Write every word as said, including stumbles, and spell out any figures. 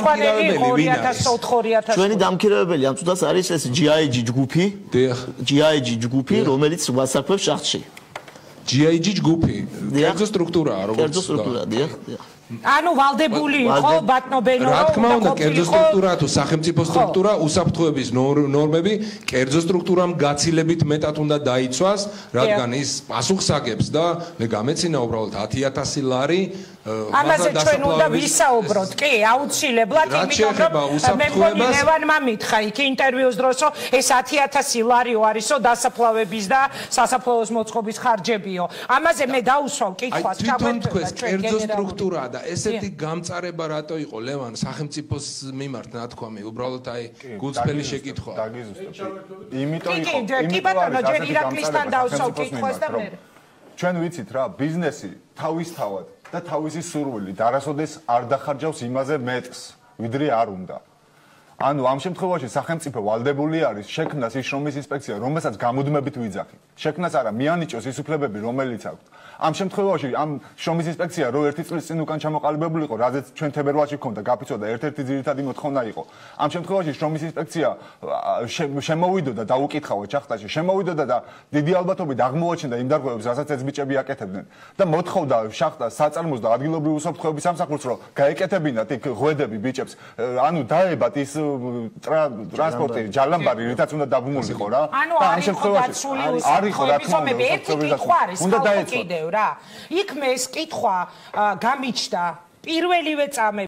დამქირავებელი ვინ არის? ჩვენი დამქირავებელი ამ წუთას არის ეს ჯი აი ჯი ჯგუფი. დიახ. ჯი აი ჯი ჯგუფი, რომელიც ვასარქვევს შახტში. ჯი აი ჯი ჯგუფი. კერძო სტრუქტურაა, როგორც. კერძო სტრუქტურაა, დიახ, დიახ. ანუ ვალდებული იყო ბატნობენო რა თქმა უნდა კერძო სტრუქტურა თუ სახელმწიფო სტრუქტურა უსაფრთხოების ნორმები კერძო სტრუქტურამ გაცილებით მეტად უნდა დაიცვას რადგან ის პასუხს აგებს და მე გამეცინა უბრალოდ ათი ათასი ლარი ამაზე ჩვენ უნდა ვისაუბროთ კი აუცილებლად იმიტომ რომ მე მგონი ლევანმა მითხრა იქ ინტერვიუს დროს რომ ეს ათი ათასი ლარიო არისო დასაფლავების და სასაფლაოს მოწყობის ხარჯებიო ამაზე მე დაუსვავ კითხვას ჩაგვეთქვეს კერძო სტრუქტურა და ესეთი გამწარება რატო იყო ლევან სახელმწიფოს მიმართ ნათქვამი უბრალოდ აი გულწრფელი შეკითხვა დაგიზუსტებ იმიტომ იყო კი ბატონო ჯერ ირაკლისთან დავსვავ კითხვას და მე ჩვენ ვიცით რა ბიზნესი თავისთავად და თავისი სურვილი დარასოდეს არ დახარჯავს იმაზე მეტს ვიდრე არ უნდა ანუ ამ შემთხვევაში სახელმწიფო ვალდებული არის შექმნას ის შრომის ინსპექცია რომელსაც გამუდმებით ვიძახით შექმნას არა მიანიჭოს ის უფლებები რომელიც აქვს ამ შემთხვევაში ამ შრომის ინსპექცია რო ერთი წლის წინ უკან ჩამოყალიბებული იყო რაზეც ჩვენ თებერვალში ქონდა გაფიცვა და ერთ-ერთი ძირითადი მოთხოვნა იყო ამ შემთხვევაში შრომის ინსპექცია შემოვიდოდა და დაუკითხავთ შახტაში შემოვიდოდა და დიდი ალბათობით აღმოაჩენდა იმ დარღვევებს რასაც ეს ბიჭები აკეთებდნენ და მოთხოვდა შახტას საწარმოს და ადგილობრივი უსაფრთხოების სამსახურს რომ გაეკეთებინათ იქ ღვედები ბიჭებს ანუ დაებათ ის ტრანსპორტი ჯალამბარი რითაც უნდა დაბმულიყო რა და ამ შემთხვევაში არ იყო რა თქმა უნდა ერთი კითხვა არის უნდა დაეცვა რა იქ მე ეს კითხვა გამიჩნდა პირველივე წამები